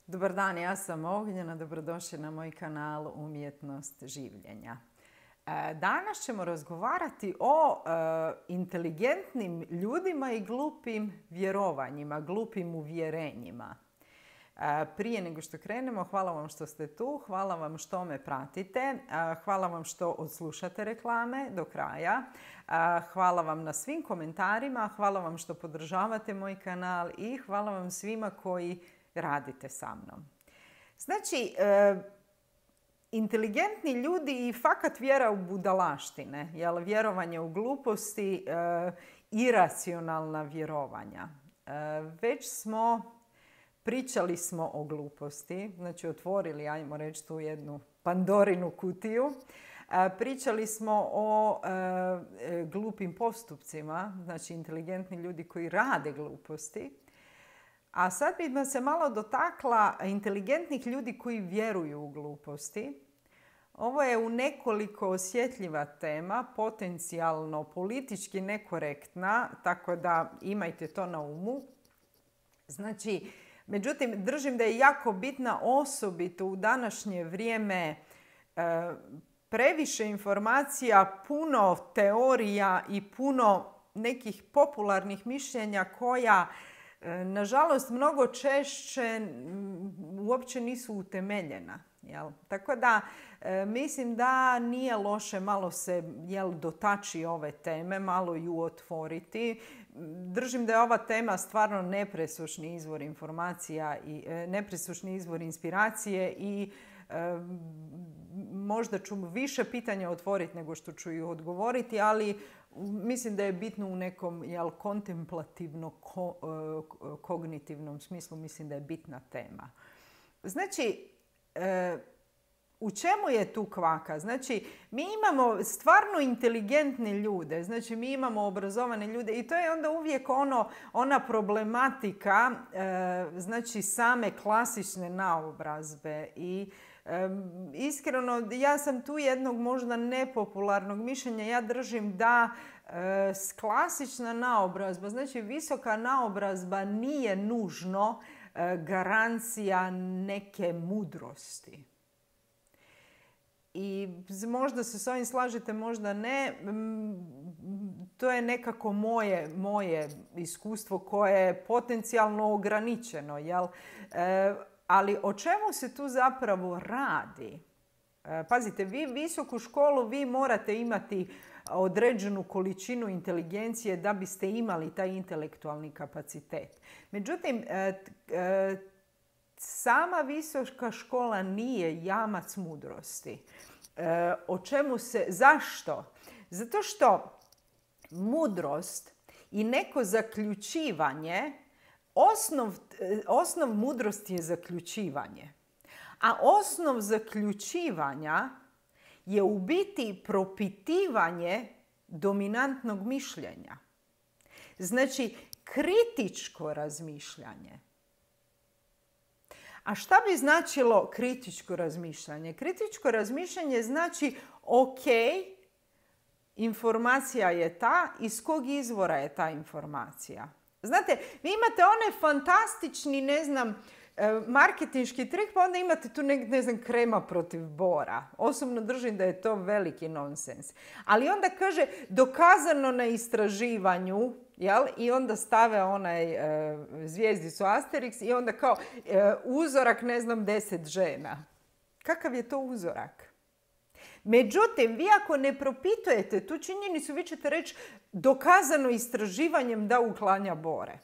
Dobar dan, ja sam Ognjena, dobrodošli na moj kanal Umjetnost življenja. Danas ćemo razgovarati o inteligentnim ljudima i glupim vjerovanjima, glupim uvjerenjima. Prije nego što krenemo, hvala vam što ste tu, hvala vam što me pratite, hvala vam što odslušate reklame do kraja, hvala vam na svim komentarima, hvala vam što podržavate moj kanal i hvala vam svima koji radite sa mnom. Znači, inteligentni ljudi i fakat vjera u budalaštine, vjerovanje u gluposti, iracionalna vjerovanja. Pričali smo o gluposti, znači otvorili, ajmo reći, tu jednu Pandorinu kutiju. Pričali smo o glupim postupcima, znači inteligentni ljudi koji rade gluposti. A sad bih se malo dotakla inteligentnih ljudi koji vjeruju u gluposti. Ovo je u nekoliko osjetljiva tema, potencijalno politički nekorektna, tako da imajte to na umu. Znači, međutim, držim da je jako bitna osobito u današnje vrijeme previše informacija, puno teorija i puno nekih popularnih mišljenja koja nažalost mnogo češće uopće nisu utemeljena. Tako da mislim da nije loše malo se dotaći ove teme, malo ju otvoriti. Držim da je ova tema stvarno nepresušni izvor informacija i nepresušni izvor inspiracije i možda ću više pitanja otvoriti nego što ću ih odgovoriti, ali mislim da je bitno u nekom kontemplativno-kognitivnom smislu, mislim da je bitna tema. Znači, u čemu je tu kvaka? Znači, mi imamo stvarno inteligentne ljude, znači mi imamo obrazovane ljude i to je onda uvijek ona problematika znači same klasične naobrazbe i iskreno, ja sam tu jednog možda nepopularnog mišljenja. Ja držim da klasična naobrazba, znači visoka naobrazba nije nužno garancija neke mudrosti. I možda se s ovim slažete, možda ne. To je nekako moje iskustvo koje je potencijalno ograničeno, jel? Ali o čemu se tu zapravo radi? Pazite, vi visoku školu, vi morate imati određenu količinu inteligencije da biste imali taj intelektualni kapacitet. Međutim, sama visoka škola nije jamac mudrosti. Zašto? Zato što mudrost i neko zaključivanje, osnov mudrosti je zaključivanje. A osnov zaključivanja je u biti propitivanje dominantnog mišljenja. Znači, kritičko razmišljanje. A šta bi značilo kritičko razmišljanje? Kritičko razmišljanje znači, ok, informacija je ta, iz kog izvora je ta informacija. Znate, vi imate one fantastični, marketinški trik, pa onda imate tu krema protiv bora. Osobno držim da je to veliki nonsens. Ali onda kaže dokazano na istraživanju, jel? I onda stave zvijezdicu Asterix i onda kao uzorak 10 žena. Kakav je to uzorak? Međutim, vi ako ne propitujete tu činjenicu, vi ćete reći dokazano istraživanjem da uklanja bore.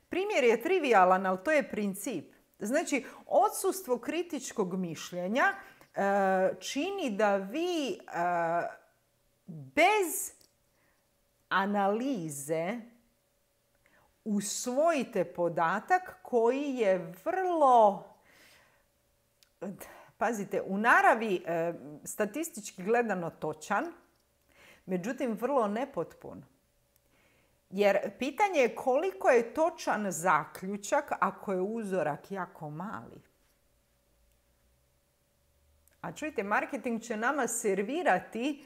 Primjer je trivijalan, ali to je princip. Znači, odsustvo kritičkog mišljenja čini da vi bez analize usvojite podatak koji je vrlo, pazite, u naravi statistički gledano točan, međutim vrlo nepotpun. Jer pitanje je koliko je točan zaključak ako je uzorak jako mali. A čujte, marketing će nama servirati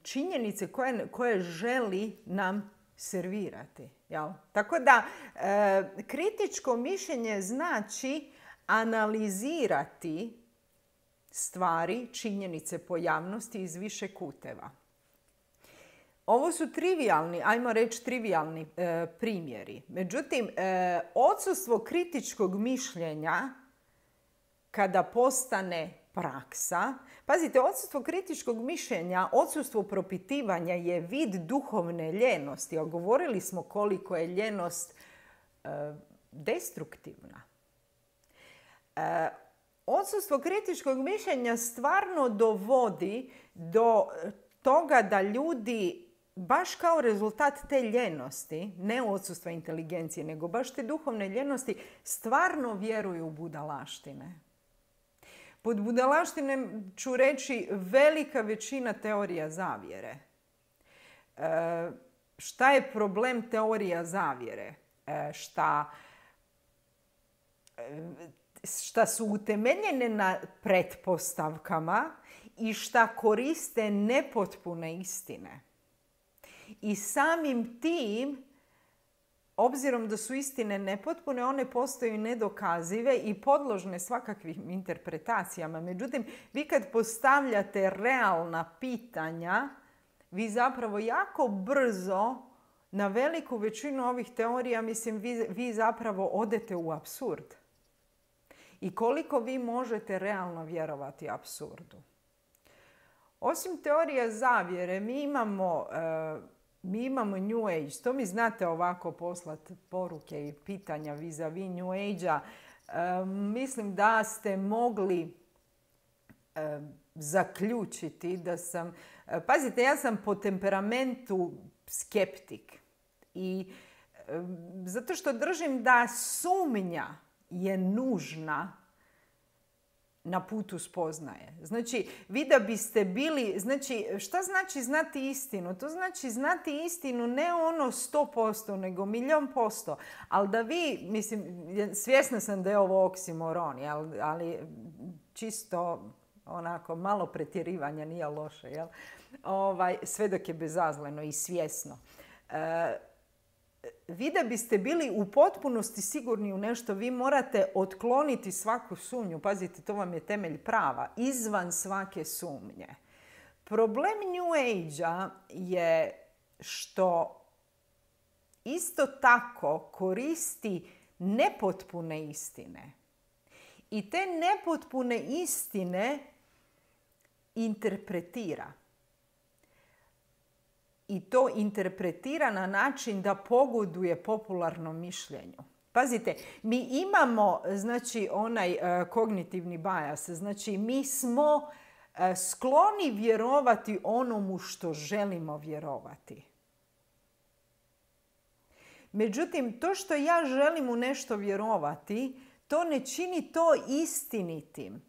činjenice koje želi nam servirati. Jel? Tako da kritičko mišljenje znači analizirati stvari, činjenice, pojavnosti iz više kuteva. Ovo su trivialni, ajmo reći trivialni primjeri. Međutim, odsustvo kritičkog mišljenja kada postane praksa, pazite, odsustvo kritičkog mišljenja, odsustvo propitivanja je vid duhovne ljenosti. A govorili smo koliko je ljenost destruktivna. Odsustvo kritičkog mišljenja stvarno dovodi do toga da ljudi baš kao rezultat te ljenosti, ne odsustva inteligencije, nego baš te duhovne ljenosti, stvarno vjeruju u budalaštine. Pod budalaštine ću reći velika većina teorija zavjere. Šta je problem teorija zavjere? Šta su utemeljene na pretpostavkama i šta koriste nepotpune istine. I samim tim, obzirom da su istine nepotpune, one postaju nedokazive i podložne svakakvim interpretacijama. Međutim, vi kad postavljate realna pitanja, vi zapravo jako brzo na veliku većinu ovih teorija, mislim, vi zapravo odete u apsurd. I koliko vi možete realno vjerovati apsurdu. Osim teorija zavjere, mi imamo New Age. To mi znate ovako poslati poruke i pitanja vis-a-vis New Age-a. Mislim da ste mogli zaključiti da sam... Pazite, ja sam po temperamentu skeptik. I zato što držim da sumnja je nužna na putu spoznaje. Znači, vi da biste bili... Znači, šta znači znati istinu? To znači znati istinu ne ono 100%, nego 1.000.000%. Ali da vi, mislim, svjesna sam da je ovo oksimoron, ali čisto onako malo pretjerivanja nije loše, jel? Sve dok je bezazleno i svjesno. Vi da biste bili u potpunosti sigurni u nešto, vi morate otkloniti svaku sumnju. Pazite, to vam je temelj prava. Izvan svake sumnje. Problem New Age-a je što isto tako koristi nepotpune istine. I te nepotpune istine interpretira. I to interpretira na način da pogoduje popularnom mišljenju. Pazite, mi imamo, znači, onaj kognitivni bias. Znači, mi smo skloni vjerovati onomu što želimo vjerovati. Međutim, to što ja želim u nešto vjerovati, to ne čini to istinitim.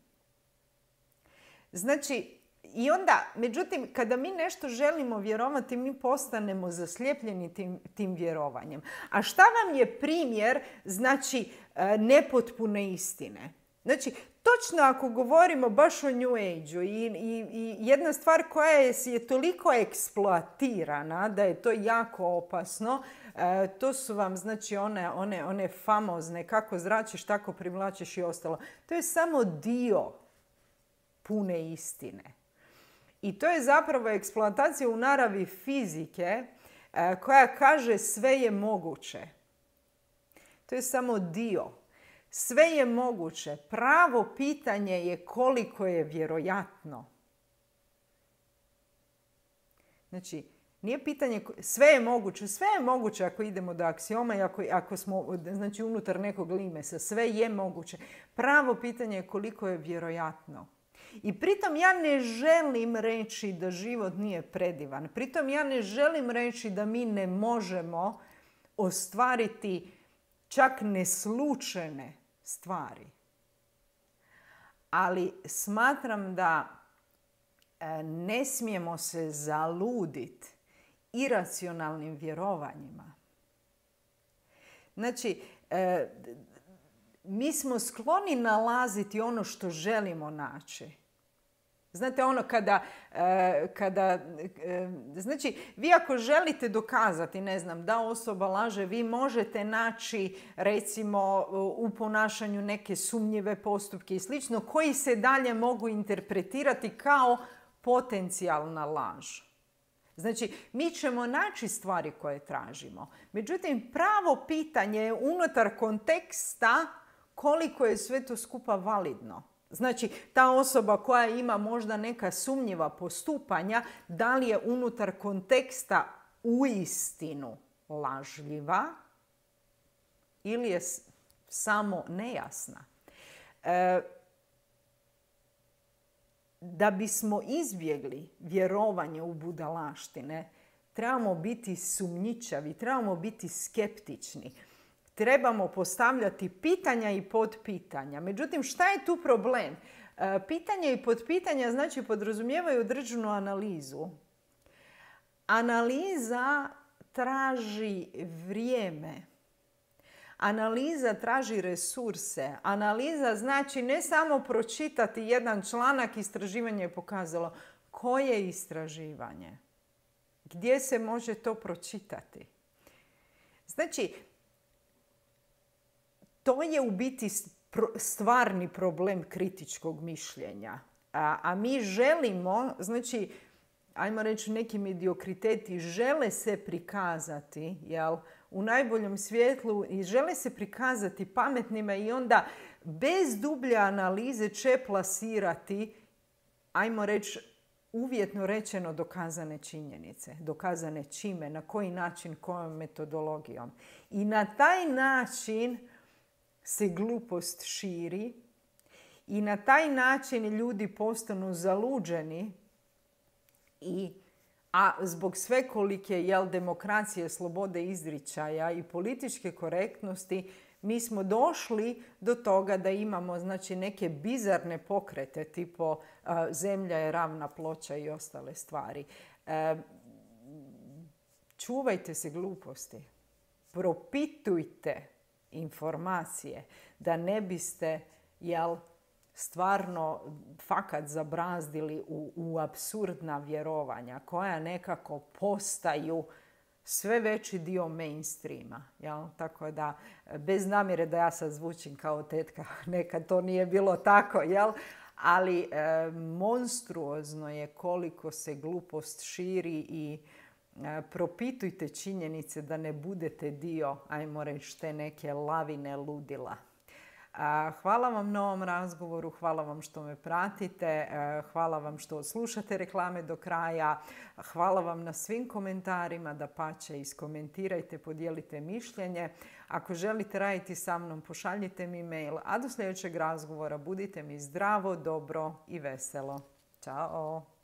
Znači, i onda, međutim, kada mi nešto želimo vjerovati, mi postanemo zaslijepljeni tim vjerovanjem. A šta vam je primjer, znači, nepotpune istine? Znači, točno ako govorimo baš o New Age-u i jedna stvar koja je toliko eksploatirana da je to jako opasno, to su vam, znači, one famozne kako zračiš, tako privlačiš i ostalo. To je samo dio pune istine. I to je zapravo eksploatacija u naravi fizike koja kaže sve je moguće. To je samo dio. Sve je moguće. Pravo pitanje je koliko je vjerojatno. Znači, nije pitanje, sve je moguće. Sve je moguće ako idemo do aksioma i ako smo, znači, unutar nekog limesa. Sve je moguće. Pravo pitanje je koliko je vjerojatno. I pritom ja ne želim reći da život nije predivan. Pritom ja ne želim reći da mi ne možemo ostvariti čak neslučajne stvari. Ali smatram da ne smijemo se zaluditi iracionalnim vjerovanjima. Znači, mi smo skloni nalaziti ono što želimo naći. Znate ono znači vi ako želite dokazati, ne znam, da osoba laže, vi možete naći recimo u ponašanju neke sumnjive postupke i slično koji se dalje mogu interpretirati kao potencijalna laž. Znači, mi ćemo naći stvari koje tražimo. Međutim, pravo pitanje je unutar konteksta koliko je sve to skupa validno. Znači, ta osoba koja ima možda neka sumnjiva postupanja, da li je unutar konteksta uistinu lažljiva ili je samo nejasna. Da bismo izbjegli vjerovanje u budalaštine, trebamo biti sumnjičavi, trebamo biti skeptični. Trebamo postavljati pitanja i podpitanja. Međutim, šta je tu problem? Pitanja i podpitanja znači podrazumijevaju određenu analizu. Analiza traži vrijeme. Analiza traži resurse. Analiza znači ne samo pročitati jedan članak, istraživanje je pokazalo. Koje istraživanje? Gdje se može to pročitati? Znači, to je u biti stvarni problem kritičkog mišljenja. A mi želimo, znači, ajmo reći neki mediokriteti žele se prikazati, jel, u najboljem svjetlu i žele se prikazati pametnima i onda bez dublje analize će plasirati, ajmo reći, uvjetno rečeno dokazane činjenice. Dokazane čime, na koji način, kojom metodologijom. I na taj način se glupost širi i na taj način ljudi postanu zaluđeni a zbog svekolike demokracije, slobode izričaja i političke korektnosti mi smo došli do toga da imamo znači, neke bizarne pokrete tipo zemlja je ravna ploča i ostale stvari. Čuvajte se gluposti. Propitujte informacije da ne biste stvarno fakat zabrazdili u apsurdna vjerovanja koja nekako postaju sve veći dio mainstreama. Tako da, bez namjere da ja sad zvučim kao tetka, nekad to nije bilo tako, ali monstruozno je koliko se glupost širi i propitujte činjenice da ne budete dio, ajmo reći, te neke lavine ludila. Hvala vam na ovom razgovoru, hvala vam što me pratite, hvala vam što slušate reklame do kraja, hvala vam na svim komentarima, dapače iskomentirajte, podijelite mišljenje. Ako želite raditi sa mnom, pošaljite mi mail, a do sljedećeg razgovora budite mi zdravo, dobro i veselo. Ćao!